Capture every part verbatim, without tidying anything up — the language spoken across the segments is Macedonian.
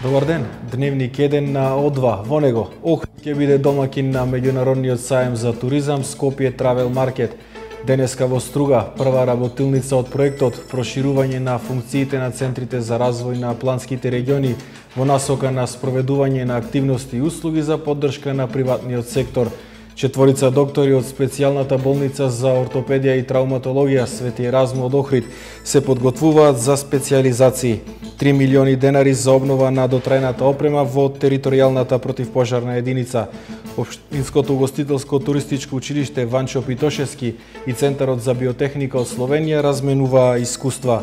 Добар ден, дневник еден на О два. Во него, Охрид ќе биде домакин на меѓународниот сајм за туризам Скопје Травел Маркет. Денеска во Струга, прва работилница од проектот проширување на функциите на центрите за развој на планските региони во насока на спроведување на активности и услуги за поддршка на приватниот сектор. Четворица доктори од специјалната болница за ортопедија и травматологија Свети Еразмо од Охрид се подготвуваат за специјализации. три милиони денари за обнова на дотрајната опрема во територијалната противпожарна единица. Општинското угостителско туристичко училиште Ванчо Питошевски и Центарот за биотехника од Словенија разменуваа искуства.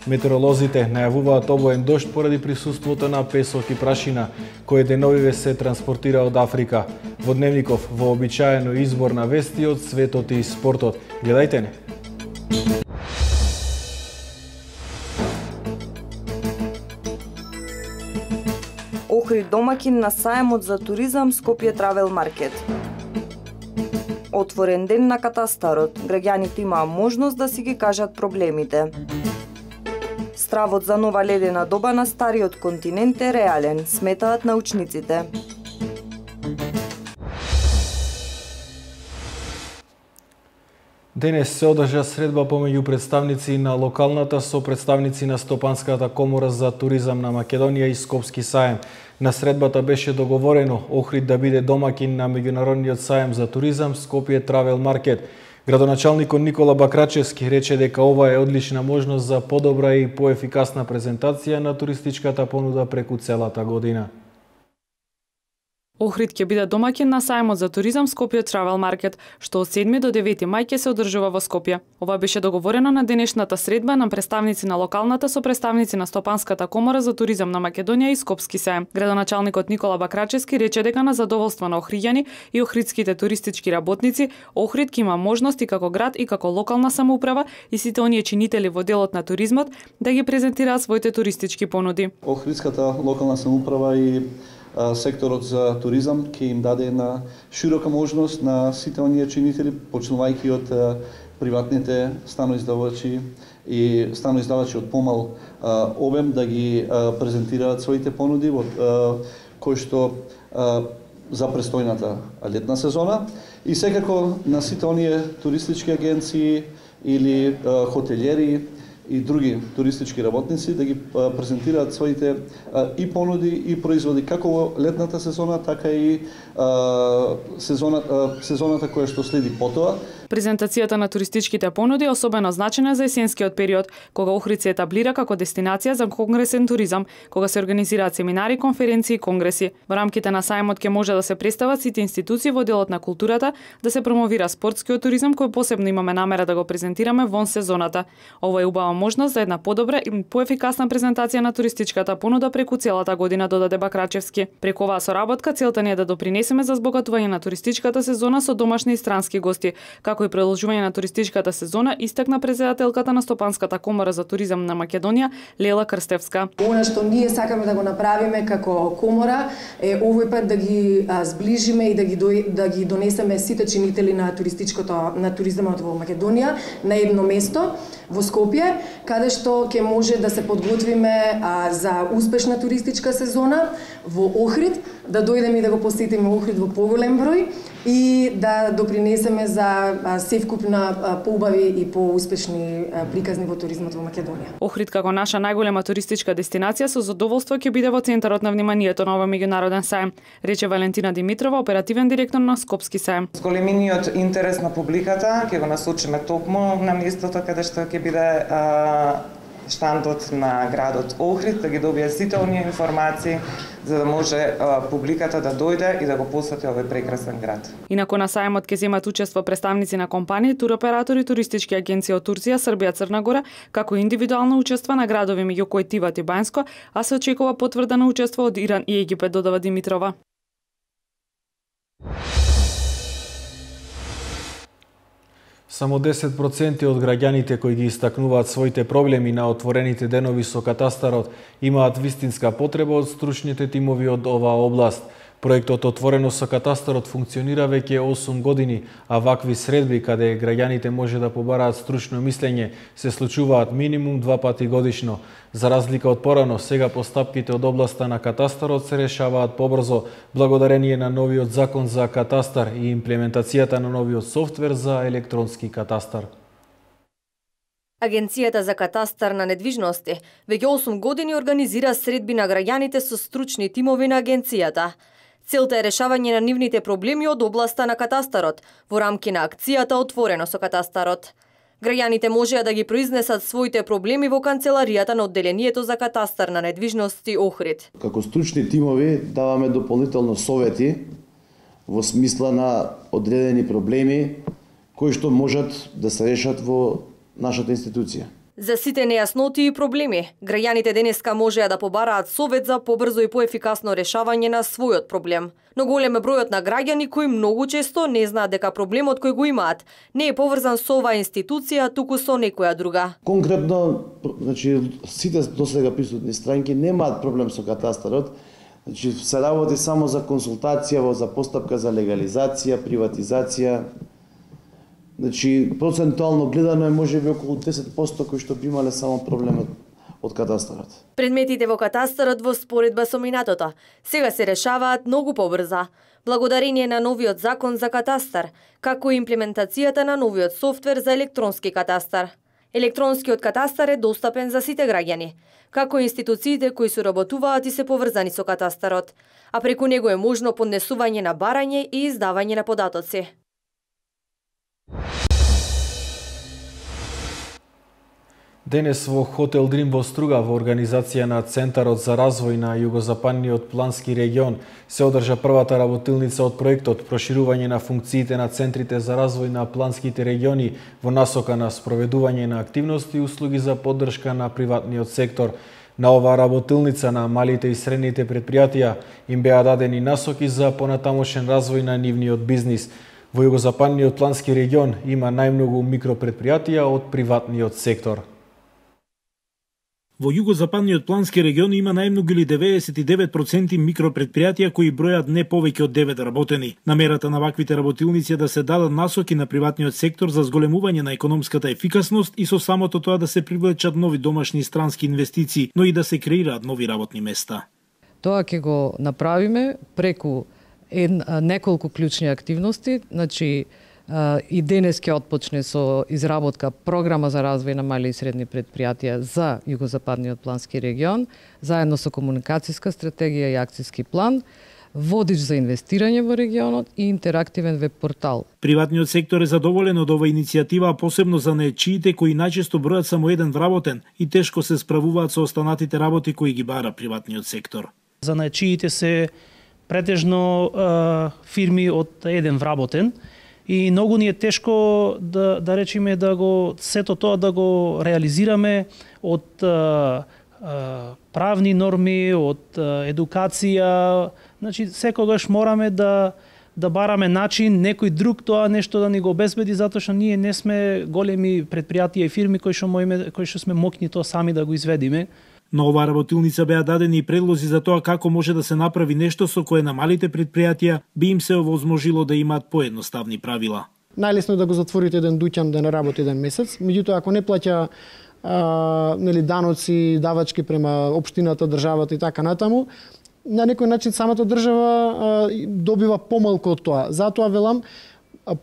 Метеоролозите најавуваат обоен дожд поради присуството на песок и прашина, кој деновиве се транспортира од Африка. Во дневников вообичаено избор на вести од светот и спортот. Гледајте не! Охрид домакин на сајмот за туризам Скопје Травел Маркет. Отворен ден на катастарот. Граѓаните имаа можност да си ги кажат проблемите. Стравот за нова ледена доба на стариот континент е реален, сметаат научниците. Денес се одржа средба помеѓу представници на локалната со представници на Стопанската комора за туризам на Македонија и Скопски сајм. На средбата беше договорено Охрид да биде домакин на меѓународниот сајм за туризам Скопје Травел Маркет. Градоначалникот Никола Бакрачевски рече дека ова е одлична можност за подобра и поефикасна презентација на туристичката понуда преку целата година. Охрид ќе биде домакин на сајмот за туризам Скопје Травел Маркет, што од седми до девети мај ќе се одржува во Скопје. Ова беше договорено на денешната средба на представници на локалната со представници на Стопанската комора за туризам на Македонија и Скопски сајм. Градоначалникот Никола Бакрачевски рече дека на задоволство на охриѓани и охридските туристички работници, Охрид ќе има можности како град и како локална самоуправа и сите оние чинители во делот на туризмот да ги презентираат своите туристички понуди. Охридската локална самоуправа и секторот за туризам ќе им даде една широка можност на сите оние чинители, почнувајќи од приватните станоиздавачи и станоиздавачи од помал обем да ги презентираат своите понуди во кои што за престојната летна сезона и секако на сите оние туристички агенции или хотелјери и други туристички работници да ги презентираат своите и понуди и производи како во летната сезона, така и сезоната, сезоната која што следи потоа. Презентацијата на туристичките понуди е особено значена за есенскиот период, кога Охрид се етаблира како дестинација за конгресен туризам, кога се организираат семинари, конференции и конгреси. Во рамките на сајмот ќе може да се представат сите институции во делот на културата, да се промовира спортскиот туризам кој посебно имаме намера да го презентираме вон сезоната. Ова е убава можност за една подобра и поефикасна презентација на туристичката понуда преку целата година, додаде Бакрачевски. Преку оваа соработка целта ни е да допринесеме за збогатување на туристичката сезона со домашни и странски гости, како и продолжување на туристичката сезона, истакна председателката на Стопанската комора за туризам на Македонија Лела Крстевска. Она што ние сакаме да го направиме како комора е овој пат да ги а, сближиме и да ги до, да ги донесеме сите чинители на туристичкото на туризмот во Македонија на едно место во Скопје, каде што ќе може да се подготвиме а, за успешна туристичка сезона во Охрид, да дојдеме и да го посетиме Охрид во поголем број и да допринесеме за севкупна поубави и поуспешни приказни во туризмот во Македонија. Охрид како наша најголема туристичка дестинација со задоволство ќе биде во центарот на вниманието на овој меѓународен сајм, рече Валентина Димитрова, оперативен директор на Скопски сајм. Големиниот интерес на публиката ќе го насочиме токму на местото каде што ќе биде а, штандот на градот Охрид, да ги добие сите оние информации за да може а, публиката да дојде и да го посети овој прекрасен град. Инаку на сајмот ќе земат учество представници на компании, туроператори, туристички агенции од Турција, Србија, Црна Гора, како индивидуално учество на градови меѓу кои Тиват и Бајнско, а се очекува потврда на учество од Иран и Египет, додава Димитрова. Само десет проценти од граѓаните кои ги истакнуваат своите проблеми на отворените денови со катастарот имаат вистинска потреба од стручните тимови од оваа област. Проектот Отворено со катастарот функционира веќе осум години, а вакви средби каде граѓаните може да побараат стручно мислење се случуваат минимум два пати годишно. За разлика од порано, сега постапките од областа на катастарот се решаваат побрзо благодарение на новиот закон за катастар и имплементацијата на новиот софтвер за електронски катастар. Агенцијата за катастар на недвижности веќе осум години организира средби на граѓаните со стручни тимови на агенцијата. Целта е решавање на нивните проблеми од областа на катастарот во рамки на акцијата Отворено со катастарот. Граѓаните можеа да ги произнесат своите проблеми во канцеларијата на одделението за катастар на недвижности Охрид. Како стручни тимови даваме дополнително совети во смисла на одредени проблеми кои што можат да се решат во нашата институција. За сите нејасноти и проблеми, граѓаните денеска можеа да побараат совет за побрзо и поефикасно решавање на својот проблем. Но голем е бројот на граѓани кои многу често не знаат дека проблемот кој го имаат не е поврзан со оваа институција, туку со некоја друга. Конкретно, значи сите досега присутни странки немаат проблем со катастарот. Значи се работи само за консултација, за постапка за легализација, приватизација. Значи, процентуално гледано е можеби околу десет проценти кои што би имале само проблемот од катастарот. Предметите во катастарот во споредба со минатото сега се решаваат многу побрза, благодарение на новиот закон за катастар, како и имплементацијата на новиот софтвер за електронски катастар. Електронскиот катастар е достапен за сите граѓани, како и институциите кои соработуваат и се поврзани со катастарот, а преку него е можно поднесување на барање и издавање на податоци. Денес во Хотел Дрим во Струга во организација на Центарот за развој на југозападниот плански регион се одржа првата работилница од проектот Проширување на функциите на центрите за развој на планските региони во насока на спроведување на активности и услуги за поддршка на приватниот сектор. На оваа работилница на малите и средните предпријатија им беа дадени насоки за понатамошен развој на нивниот бизнис. Во југозападниот плански регион има најмногу микропредпријатија од приватниот сектор. Во југозападниот плански регион има најмногу или деветдесет и девет проценти микропредпријатија кои бројат не повеќе од девет работени. Намерата на ваквите работилници е да се дадат насоки на приватниот сектор за зголемување на економската ефикасност и со самото тоа да се привлечат нови домашни и странски инвестиции, но и да се креираат нови работни места. Тоа ќе го направиме преку ед, неколку клучни активности, значи и денес ќе отпочне со изработка програма за развој на мали и средни предпријатија за југозападниот плански регион, заедно со комуникацијска стратегија и акцијски план, водич за инвестирање во регионот и интерактивен веб портал. Приватниот сектор е задоволен од оваа иницијатива, а посебно за наечиите кои најчесто бројат само еден вработен и тешко се справуваат со останатите работи кои ги бара приватниот сектор. За наечиите се претежно е, фирми од еден вработен, и многу ни е тешко да да речеме да го сето тоа да го реализираме од а, а, правни норми, од а, едукација, значи секогаш мораме да да бараме начин некој друг тоа нешто да ни го обезбеди, затоа што ние не сме големи предпријатија и фирми кои што можеме кои што сме моќни тоа сами да го изведиме. На оваа работилница беа дадени и предлози за тоа како може да се направи нешто со кое на малите предпријатија би им се овозможило да имаат поедноставни правила. Најлесно е да го затворите еден дуќан да не работи еден месец, меѓутоа ако не плаќа а, нели даноци, давачки према општината, државата и така натаму, на некој начин самата држава а, добива помалку од тоа. Затоа велам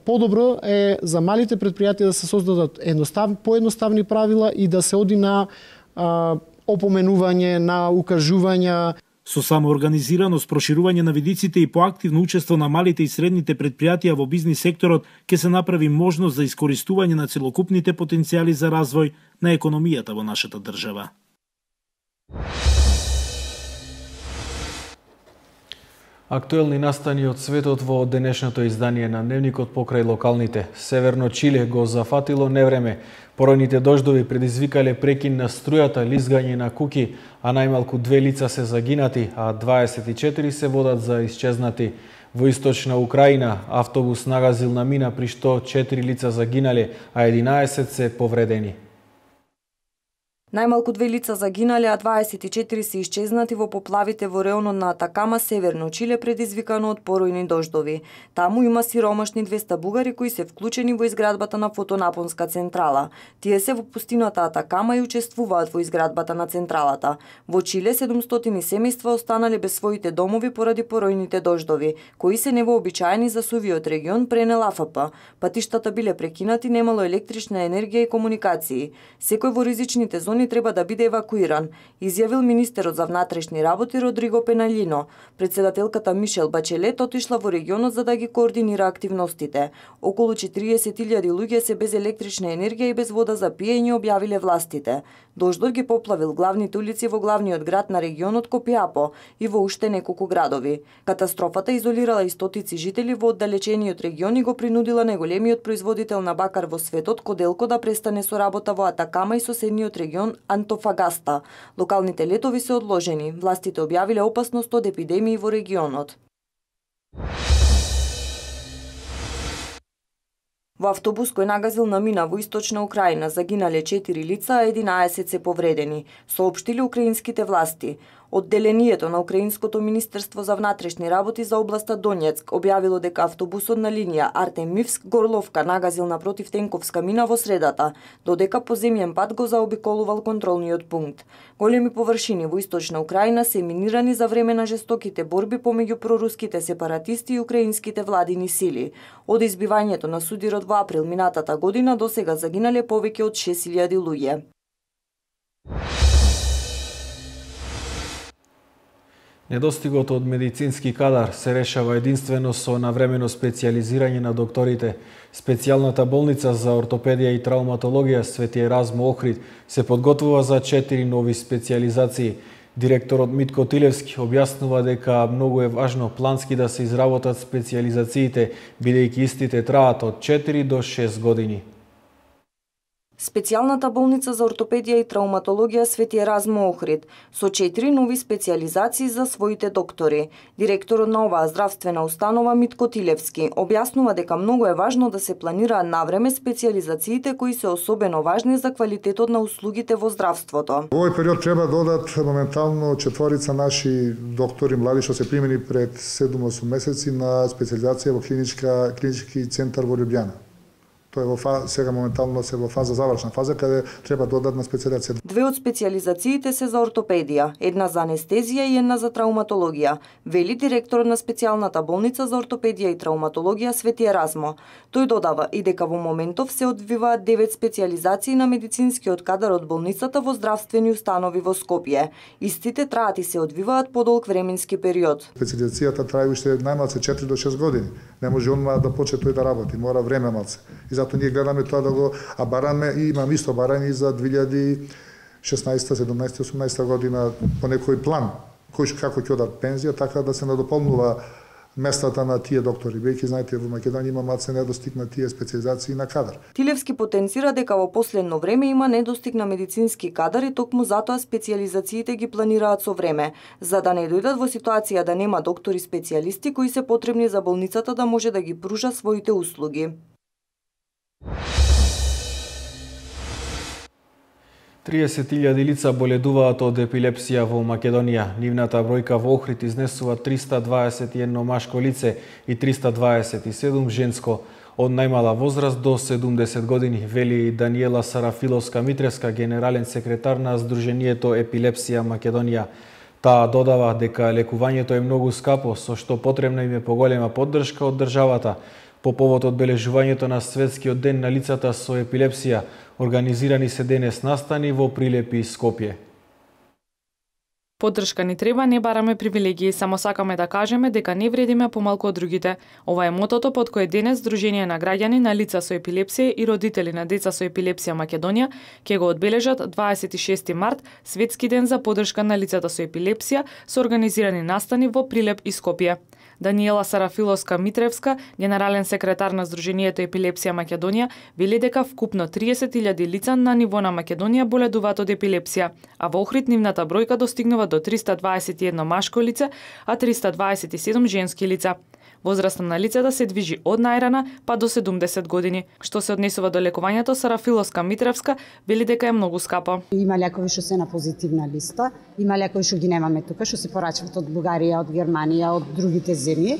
подобро е за малите предпријатија да се создадат едностав, поедноставни правила и да се оди на а, опоменување, на укажувања. Со самоорганизираност, проширување на видиците и поактивно учество на малите и средните предпријатија во бизнис секторот ќе се направи можност за искористување на целокупните потенцијали за развој на економијата во нашата држава. Актуелни настани од светот во денешното издание на Дневникот покрај локалните. Северно Чиле го зафатило невреме. Поројните дождови предизвикале прекин на струјата, лизгање на куки, а најмалку две лица се загинати, а дваесет и четири се водат за исчезнати. Во источна Украина автобус нагазил на мина при што четири лица загинале, а единаесет се повредени. Најмалку две лица загинале, а дваесет и четири се исчезнати во поплавите во реонот на Атакама, северно Чиле, предизвикано од поројни дождови. Таму има сиромашни двеста бугари кои се вклучени во изградбата на фотонапонска централа. Тие се во пустината Атакама и учествуваат во изградбата на централата. Во Чиле седумстотини семејства останале без своите домови поради поројните дождови, кои се невообичаени за сувиот регион, пренел А Ф П. Патиштата биле прекинати, немало електрична енергија и комуникации. Секој во ризичните зони треба да биде евакуиран, изјавил министерот за внатрешни работи Родриго Пеналјино. Председателката Мишел Бачелет отишла во регионот за да ги координира активностите. Околу четириесет илјади луѓе се без електрична енергија и без вода за пиење, објавиле властите. Дождот ги поплавил главните улици во главниот град на регионот Копиапо и во уште неколку градови. Катастрофата изолирала и стотици жители во оддалечениот регион и го принудила најголемиот производител на бакар во светот, Коделко, да престане со работа во Атакама и соседниот регион Антофагаста. Локалните летови се одложени. Властите објавиле опасност од епидемии во регионот. Во автобус кој нагазил на мина во источна Украина загинале четири лица, а единаесет се повредени, соопштиле украинските власти. Одделението на Украинското министерство за внатрешни работи за областа Донецк објавило дека автобусот на линија Артемивск-Горловка нагазил на противтенковска мина во средата, додека по земјен пат го заобиколувал контролниот пункт. Големи површини во источна Украина се минирани за време на жестоките борби помеѓу проруските сепаратисти и украинските владини сили. Од избивањето на судирот во април минатата година до сега загинале повеќе од шест илјади луѓе. Недостигот од медицински кадар се решава единствено со навремено специјализирање на докторите. Специјалната болница за ортопедија и травматологија Свети Еразмо Охрид се подготвува за четири нови специјализации. Директорот Митко Тилевски објаснува дека многу е важно плански да се изработат специјализациите, бидејќи истите траат од четири до шест години. Специјалната болница за ортопедија и травматологија Свети Еразмо Охрид со четири нови специјализации за своите доктори. Директорот на оваа здравствена установа Митко Тилевски објаснува дека многу е важно да се планираат навреме специјализациите кои се особено важни за квалитетот на услугите во здравството. Во овој период треба да одат моментално четворица наши доктори млади што се примени пред седум-осум месеци на специјализација во клиничка клинички центар во Љубљана. Тоа е во фаза, сега моментално се во фаза завршна фаза каде треба додатна специјализација. Две од специјализациите се за ортопедија, една за анестезија и една за травматологија, вели директорот на специјалната болница за ортопедија и травматологија Свети Еразмо. Тој додава и дека во моментов се одвиваат девет специјализации на медицинскиот кадар од болницата во здравствени установи во Скопје. Истите траат и се одвиваат подолг временски период. Специјализацијата трае уште најмалце четири до шест години. Не може онма да почне тој да работи, мора време малце. И затоа ние гледаме тоа да го, а бараме и имам исто барање за две илјади и шеснаесета, седумнаесета, осумнаесета година по некој план, кој како ќе одат пензија, така да се надополнува местата на тие доктори. Веќе знаете во Македонија има малце недостиг на тие специјализации на кадар. Тилевски потенцира дека во последно време има недостиг на медицински кадар и токму затоа специјализациите ги планираат со време, за да не дојдат во ситуација да нема доктори специјалисти кои се потребни за болницата да може да ги пружа своите услуги. триесет илјади лица боледуваат од епилепсија во Македонија. Нивната бројка во Охрид изнесува триста дваесет и едно машко лице и триста дваесет и седум женско од најмала возраст до седумдесет години, вели Даниела Сарафиловска-Митревска, генерален секретар на Сдруженијето Епилепсија Македонија. Таа додава дека лекувањето е многу скапо, со што потребна им е поголема поддршка од државата. По повод одбележувањето на Светскиот ден на лицата со епилепсија, организирани се денес настани во Прилепи и Скопје. Поддршка ни треба, не бараме привилегии, само сакаме да кажеме дека не вредиме помалку од другите. Ова е мотото под кое денес Сдружение на граѓани на лица со епилепсија и родители на деца со епилепсија Македонија ќе го одбележат дваесет и шести март, Светски ден за поддршка на лицата со епилепсија, со организирани настани во Прилеп и Скопје. Даниела Сарафиловска-Митревска, генерален секретар на Сдруженијето Епилепсија Македонија, вели дека вкупно триесет илјади лица на ниво на Македонија боледуваат од епилепсија, а во Охрид нивната бројка достигнува до триста дваесет и едно машко лице, а триста дваесет и седум женски лица. Возраста на лицата се движи од најрана па до седумдесет години. Што се однесува до лекувањето, Сара Филовска-Митревска вели дека е многу скапа. Има лекови што се на позитивна листа, има лекови што ги немаме тука, што се порачуваат од Бугарија, од Германија, од другите земји.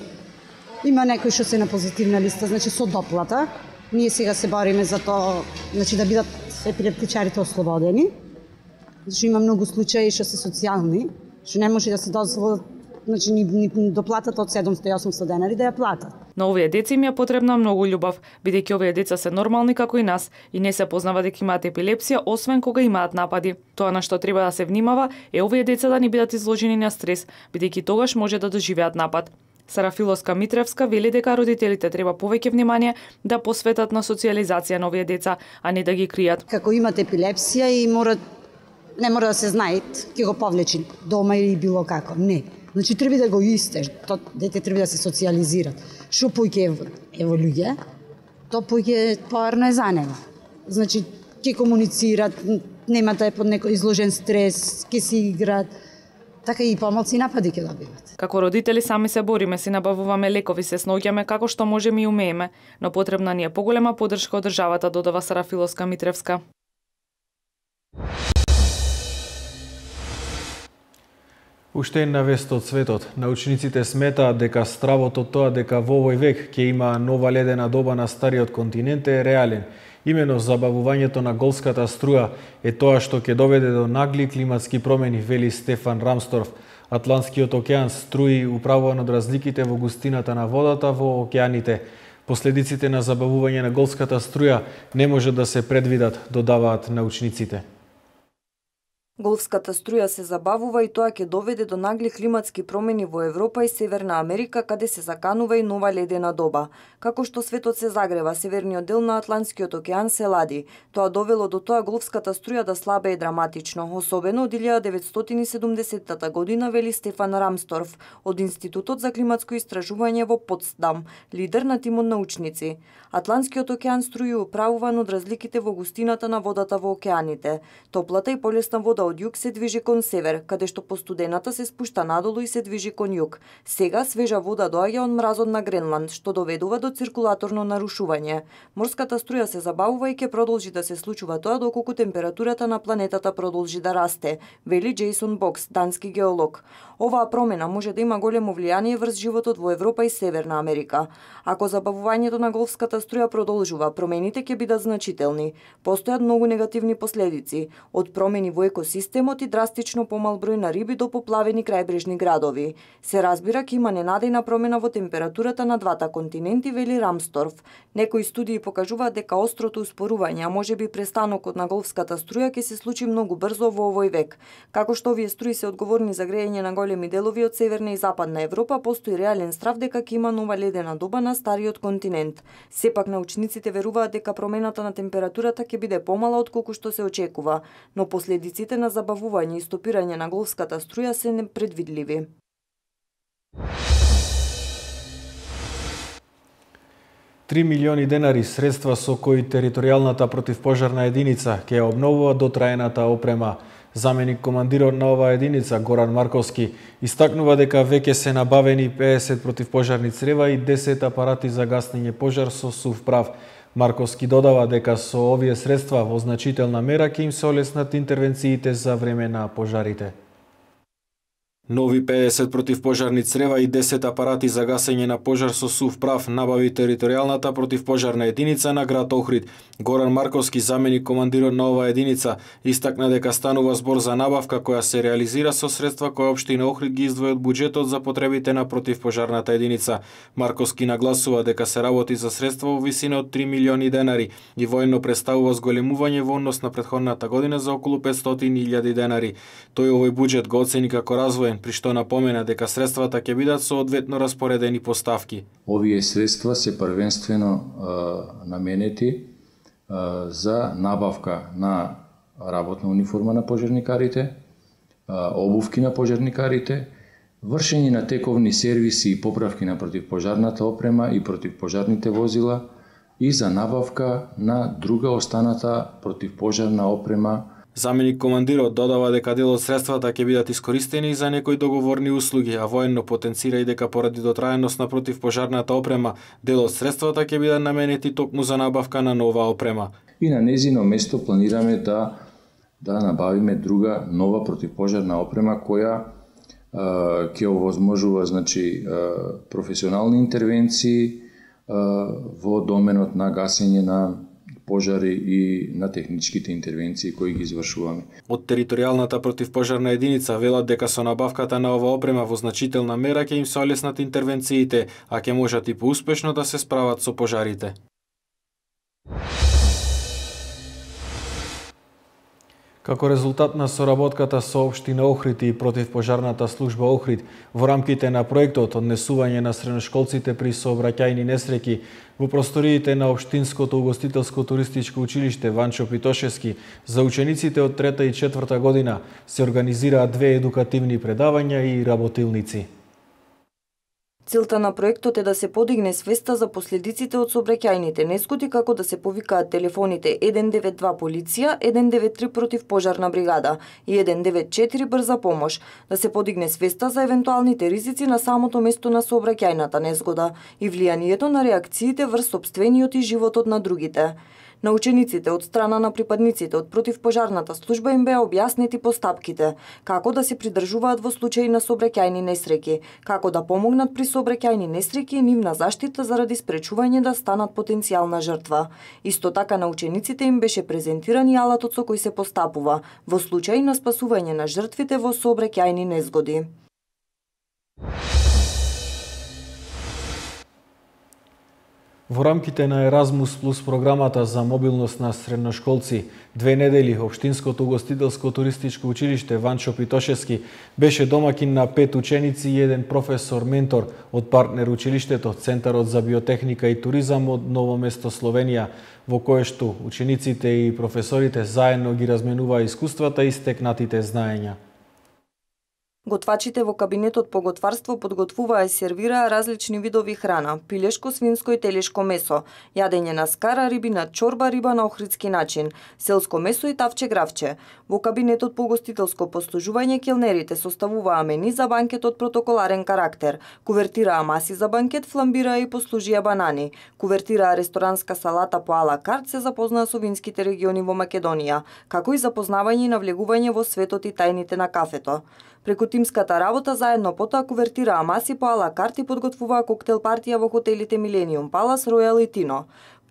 Има некои што се на позитивна листа, значи со доплата. Ние сега се бориме за тоа, значи да бидат епилептичарите ослободени. Значи има многу случаи што се социјални, што не може да се дозволат, значи ни, ни доплатат од седумстотини и осумстотини денари да ја платат. На овие деца им е потребна многу љубов, бидејќи овие деца се нормални како и нас и не се познава дека имаат епилепсија освен кога имаат напади. Тоа на што треба да се внимава е овие деца да не бидат изложени на стрес, бидејќи тогаш може да доживеат напад. Сара Филовска-Митревска вели дека родителите треба повеќе внимание да посветат на социјализација на овие деца, а не да ги кријат. Како имат епилепсија и мора не мора да се знае, ќе го повлечи дома или било како. Не. Значи треба да го истеж, то дете треба да се социјализираат. Што поќе еволуира, то поќе поарно е за него. Значи ќе комуницираат, нема да е под некој изложен стрес, ќе си играат. Така и помалци напади ќе добиват. Како родители сами се бориме, си набавуваме лекови, се сноѓаме како што можеме и умееме, но потребна ни е поголема поддршка од државата, додава Сара Филовска-Митревска. Уште една вест од светот. Научниците сметаат дека стравот од тоа дека во овој век ќе има нова ледена доба на стариот континент е реален. Имено забавувањето на голската струја е тоа што ќе доведе до нагли климатски промени, вели Стефан Рамсторф. Атлантскиот океан струи управуван од разликите во густината на водата во океаните. Последиците на забавување на голската струја не може да се предвидат, додаваат научниците. Голфската струја се забавува и тоа ќе доведе до нагли климатски промени во Европа и Северна Америка, каде се заканува и нова ледена доба. Како што светот се загрева, северниот дел на Атлантскиот океан се лади. Тоа довело до тоа голфската струја да слабее драматично, особено од илјада деветстотини и седумдесеттата година, вели Стефан Рамсторф од Институтот за климатско истражување во Потсдам, лидер на тимот научници. Атлантскиот океан струи управуван од разликите во густината на водата во океаните. Топлата и полесна вода од југ се движи кон север, каде што постудената се спушта надолу и се движи кон југ. Сега свежа вода доаѓа од мразот на Гренланд, што доведува до циркулаторно нарушување. Морската струја се забавува и ќе продолжи да се случува тоа доколку температурата на планетата продолжи да расте, вели Джейсон Бокс, дански геолог. Оваа промена може да има големо влијание врз животот во Европа и Северна Америка. Ако забавувањето на голфската струја продолжува, промените ќе бидат значителни. Постојат многу негативни последици, од промени во екосистемот и драстично помал број на риби до поплавени крајбрежни градови. Се разбира ќе има ненадејна промена во температурата на двата континенти, вели Рамсторф. Некои студии покажуваат дека острото успорување, а можеби престанокот на голфската струја ќе се случи многу брзо во овој век. Како што овие струи се одговорни за грејење на големи делови од Северна и Западна Европа, постои реален страв дека ќе има нова ледена доба на стариот континент. Сепак научниците веруваат дека промената на температурата ќе биде помала отколку што се очекува, но последиците на забавување и стопирање на голфската струја се непредвидливи. Три милиони денари средства со кои територијалната противпожарна единица ќе обновува дотраената опрема. Заменик командирот на оваа единица, Горан Марковски, истакнува дека веќе се набавени педесет противпожарни црева и десет апарати за гаснење пожар со сув прав. Марковски додава дека со овие средства во значителна мера ќе им се олеснат интервенциите за време на пожарите. Нови педесет противпожарни црева и десет апарати за гасење на пожар со сув прав набави територијалната противпожарна единица на град Охрид. Горан Марковски, заменик командирот на оваа единица, истакна дека станува збор за набавка која се реализира со средства кои општина Охрид ги издвои од буџетот за потребите на противпожарната единица. Марковски нагласува дека се работи за средства во висина од три милиони денари и воено представува зголемување во однос на претходната година за околу петстотини илјади денари. Тој овој буџет го оцени како развоен, при што напомена дека средствата ќе бидат соодветно распоредени по ставки. Овие средства се првенствено е, наменети е, за набавка на работна униформа на пожарникарите, е, обувки на пожарникарите, вршење на тековни сервиси и поправки на противпожарната опрема и противпожарните возила и за набавка на друга останата противпожарна опрема Заменик командирот додава дека дел од средствата ќе бидат искористени за некои договорни услуги, а военно потенцира и дека поради дотраеност на противпожарната опрема, дел од средствата ќе бидат наменети токму за набавка на нова опрема. И на незино место планираме да да набавиме друга нова противпожарна опрема која ќе овозможува значи професионални интервенции во доменот на гасење на пожари и на техничките интервенции кои ги извршуваме. Од територијалната противпожарна единица велат дека со набавката на ова опрема во значителна мера ќе им се олеснат интервенциите, а ќе можат и поуспешно да се справат со пожарите. Како резултат на соработката со општина Охрид и противпожарната служба Охрид во рамките на проектот однесување на средношколците при сообраќајни несреќи во просториите на општинското угостителско туристичко училиште Ванчо Питошевски за учениците од трета и четврта година се организираат две едукативни предавања и работилници. Целта на проектот е да се подигне свеста за последиците од сообраќајните несгоди, како да се повикаат телефоните еден девет два полиција, еден девет три противпожарна бригада и еден девет четири брза помош, да се подигне свеста за евентуалните ризици на самото место на сообраќајната несгода и влијанието на реакциите врз сопствениот и животот на другите. На учениците од страна на припадниците од противпожарната служба им беа објаснети постапките, како да се придржуваат во случаи на сообраќајни несреќи, како да помогнат при сообраќајни несреќи и нивна заштита заради спречување да станат потенцијална жртва. Исто така на учениците им беше презентиран и алатот со кој се постапува во случаи на спасување на жртвите во сообраќајни несгоди. Во рамките на Еразмус плюс програмата за мобилност на средношколци, две недели Општинското угостителско туристичко училиште Ванчо Питошевски беше домакин на пет ученици и еден професор-ментор од партнер училиштето Центарот за биотехника и туризам од Ново место, Словенија, во кое што учениците и професорите заедно ги разменуваа искуствата и стекнатите знаења. Готвачите во кабинетот по готварство подготвуваа и сервираа различни видови храна: пилешко, свинско и телешко месо, јадење на скара, рибина чорба, риба на охридски начин, селско месо и тавче гравче. Во кабинетот по гостителско послужување келнерите составуваа мени за банкет од протоколарен карактер, кувертираа маси за банкет, фламбираа и послужија банани, кувертираа ресторанска салата по ала карт, се запознаа со винските региони во Македонија, како и запознавање и навлегување во светот и тајните на кафето. Преку тимската работа заедно потоа кувертираа маси по ала карт и подготвуваа коктел партија во хотелите Millennium Palace, Royal и Tino.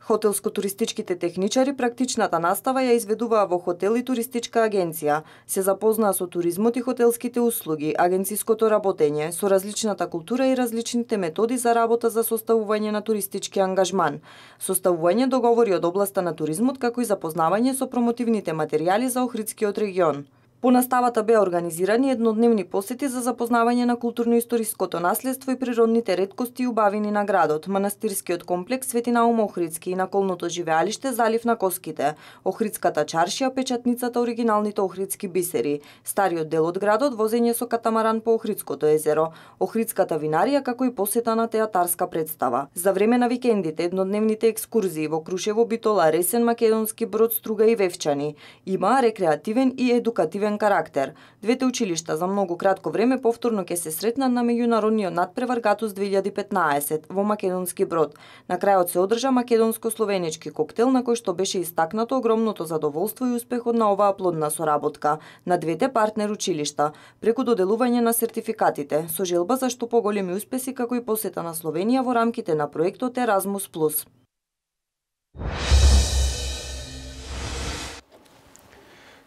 Хотелско-туристичките техничари практичната настава ја изведуваа во хотел и туристичка агенција, се запознаа со туризмот и хотелските услуги, агенциското работење, со различната култура и различните методи за работа за составување на туристички ангажман, составување договори од областа на туризмот, како и запознавање со промотивните материјали за Охридскиот регион. По наставата беа организирани еднодневни посети за запознавање на културно-историското наследство и природните реткости и убавини на градот, манастирскиот комплекс Свети Наум Охридски и наколното живеалиште Залив на Коските, Охридската чаршија, печатницата оригиналните охридски бисери, стариот дел од градот, возење со катамаран по Охридското езеро, Охридската винарија, како и посета на театарска представа. За време на викендите, еднодневните екскурзии во Крушево, Битола, Ресен, Македонски Брод, Струга и Вевчани имаа рекреативен и едукативен карактер. Двете училишта за многу кратко време повторно ќе се сретнат на меѓународниот надпревар Гатус две илјади и петнаесет во Македонски Брод. На крајот се одржа македонско-словенички коктел на кој што беше истакнато огромното задоволство и успехот на оваа плодна соработка на двете партнер училишта преку доделување на сертификатите со желба за што поголеми успеси, како и посета на Словенија во рамките на проектот Еразмус плюс.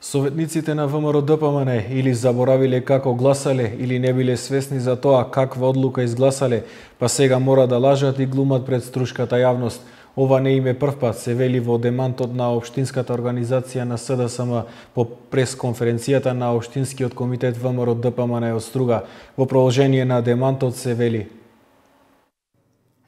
Советниците на ВМРО-ДПМН или заборавиле како гласале или не биле свесни за тоа каква одлука изгласале, па сега мора да лажат и глумат пред струшката јавност. Ова не им е прв пат, се вели во демантот на Општинската организација на СДСМ по пресконференцијата на Општинскиот комитет ВМРО-ДПМН од Струга. Во продолжение на демантот се вели: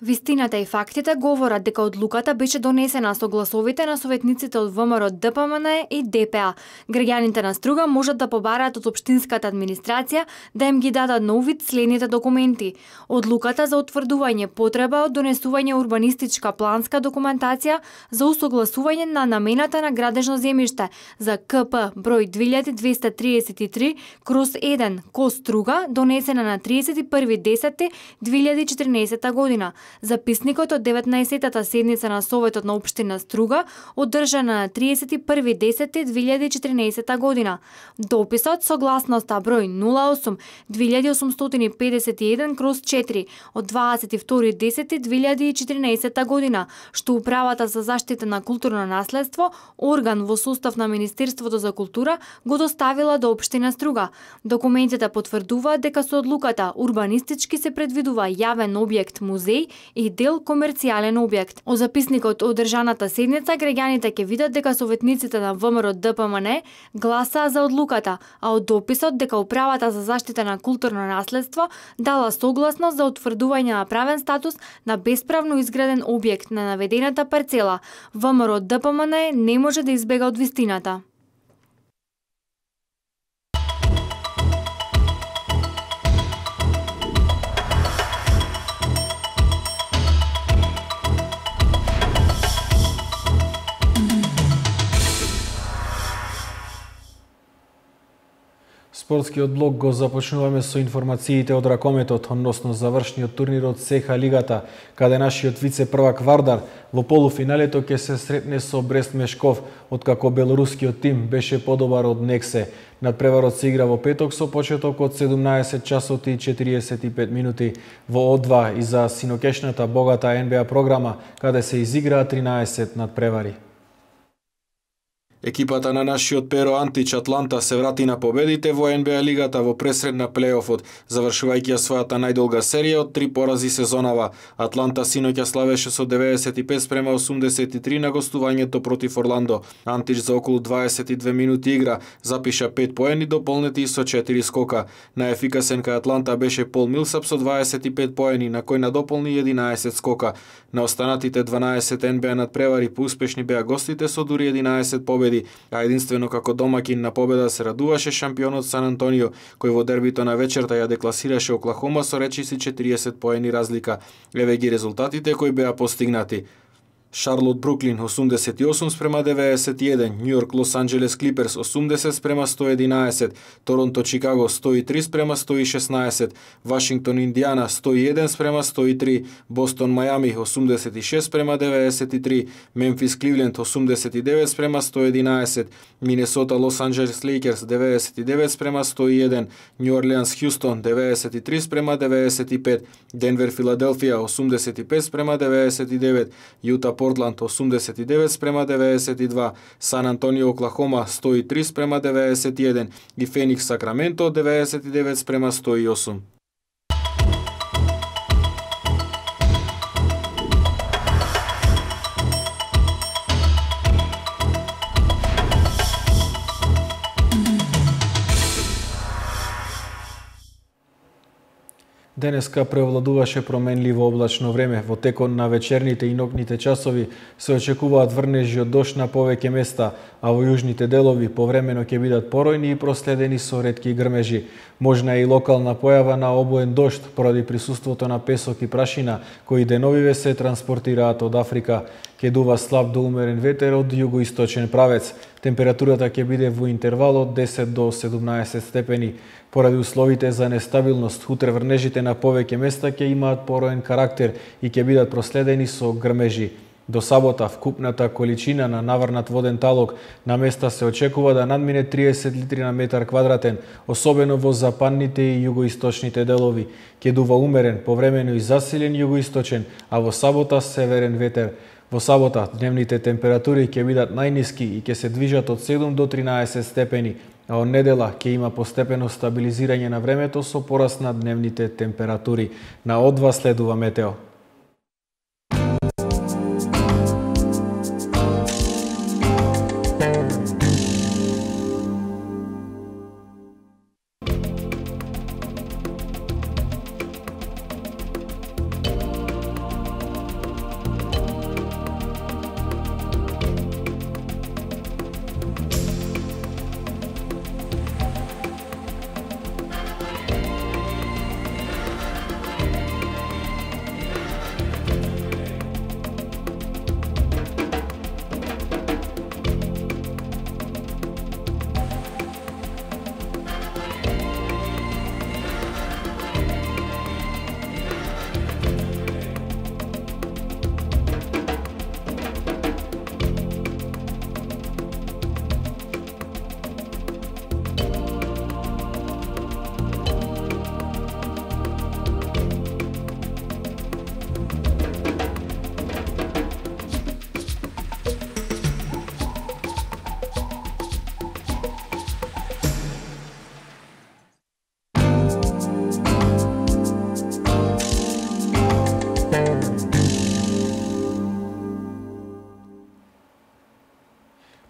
Вистината и фактите говорат дека одлуката беше донесена со гласовите на советниците од ВМРО Д П М Н и Д П А. Граѓаните на Струга можат да побараат од општинската администрација да им ги дадат на увид следните документи: одлуката за утврдување потреба од донесување урбанистичка планска документација за усогласување на намената на градежно земјиште за К П број две илјади двеста триесет и три кроз еден ко Струга, донесена на тридесет и први десети две илјади и четрнаесета година. Записникот од деветнаесеттата седница на Советот на општина Струга, одржана на тридесет и први десети две илјади и четрнаесета година. Дописот согласноста број нула осум две илјади осумстотини педесет и еден кроз четири од дваесет и втори десети две илјади и четрнаесета година, што Управата за заштита на културно наследство, орган во состав на Министерството за култура, го доставила до општина Струга. Документите потврдуваат дека со одлуката урбанистички се предвидува јавен објект музеј и дел комерцијален објект. Од записникот од одржаната седница граѓаните ќе видат дека советниците на ВМРО Д П М Н гласаа за одлуката, а од дописот дека Управата за заштита на културно наследство дала согласност за утврдување на правен статус на бесправно изграден објект на наведената парцела. ВМРО Д П М Н не може да избега од вистината. Спортскиот блок го започнуваме со информациите од ракометот односно завршниот турнир од С Х лигата, каде нашиот вице-првак Вардар во полуфиналето ќе се сретне со Брест Мешков, откако белорускиот тим беше подобар од Нексе. Надпреварот се игра во петок со почеток од седумнаесет часот и четириесет и пет минути во О два и за синокешната богата Н Б А програма, каде се изиграа тринаесет надпревари. Екипата на нашиот Перо Антич Атланта се врати на победите во Н Б А лигата во пресред на плејофот, завршувајќи ја својата најдолга серија од три порази сезонава. Атланта синоќа славеше со деветдесет и пет спрема осумдесет и три на гостувањето против Орландо. Антич за околу дваесет и две минути игра запиша пет поени дополнети со четири скока. Најефикасен кај Атланта беше Пол Милсап со дваесет и пет поени, на кој надополни единаесет скока. На останатите дванаесет Н Б А надпревари поуспешни беа гостите со дури единаесет победи, а единствено како домакин на победа се радуваше шампионот Сан Антонио, кој во дербито на вечерта ја декласираше Оклахома со речиси четириесет поени разлика. Еве ги резултатите кои беа постигнати. Шарлот Бруклин осумдесет и осум спрема деветдесет и еден, Нью Йорк Лос Анџелес Клиперс осумдесет спрема сто единаесет, Торонто Чикаго сто и три спрема сто и шеснаесет, Вашингтон Индијана сто и еден спрема сто и три, Бостон Мајами осумдесет и шест спрема деветдесет и три, Мемфис Кливленд осумдесет и девет спрема сто единаесет, Минесота Лос Анџелес Лейкерс деветдесет и девет спрема сто и еден, Нью Орлеанс Хјустон деветдесет и три спрема деветдесет и пет, Денвер Филаделфија осумдесет и пет спрема деветдесет и девет, Јута Портланд осумдесет и девет спрема деветдесет и два, Сан Антонио Оклахома сто и три спрема деветдесет и еден и Феникс Сакраменто деветдесет и девет спрема сто и осум. Денеска преовладуваше променливо облачно време. Во текот на вечерните и ноќните часови се очекуваат врнежи од дожд на повеќе места, а во јужните делови повремено ќе бидат поројни и проследени со ретки грмежи. Можна е и локална појава на обоен дожд поради присуството на песок и прашина, кои деновиве се транспортираат од Африка. Ќе дува слаб до умерен ветер од југоисточен правец. Температурата ќе биде во интервал од десет до седумнаесет степени. Поради условите за нестабилност, утре врнежите на повеќе места ќе имаат пороен карактер и ќе бидат проследени со грмежи. До сабота вкупната количина на наврнат воден талок на места се очекува да надмине триесет литри на метар квадратен, особено во западните и југоисточните делови. Ќе дува умерен, повремено и засилен југоисточен, а во сабота северен ветер. Во сабота дневните температури ќе бидат најниски и ќе се движат од седум до тринаесет степени, а од недела ќе има постепено стабилизирање на времето со пораст на дневните температури. На О два следува метео.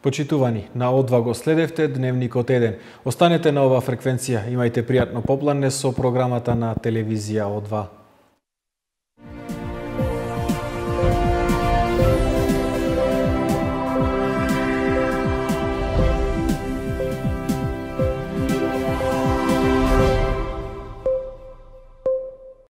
Почитувани, на О два го следевте Дневникот еден. Останете на оваа фреквенција, имајте пријатно попладне со програмата на телевизија О два.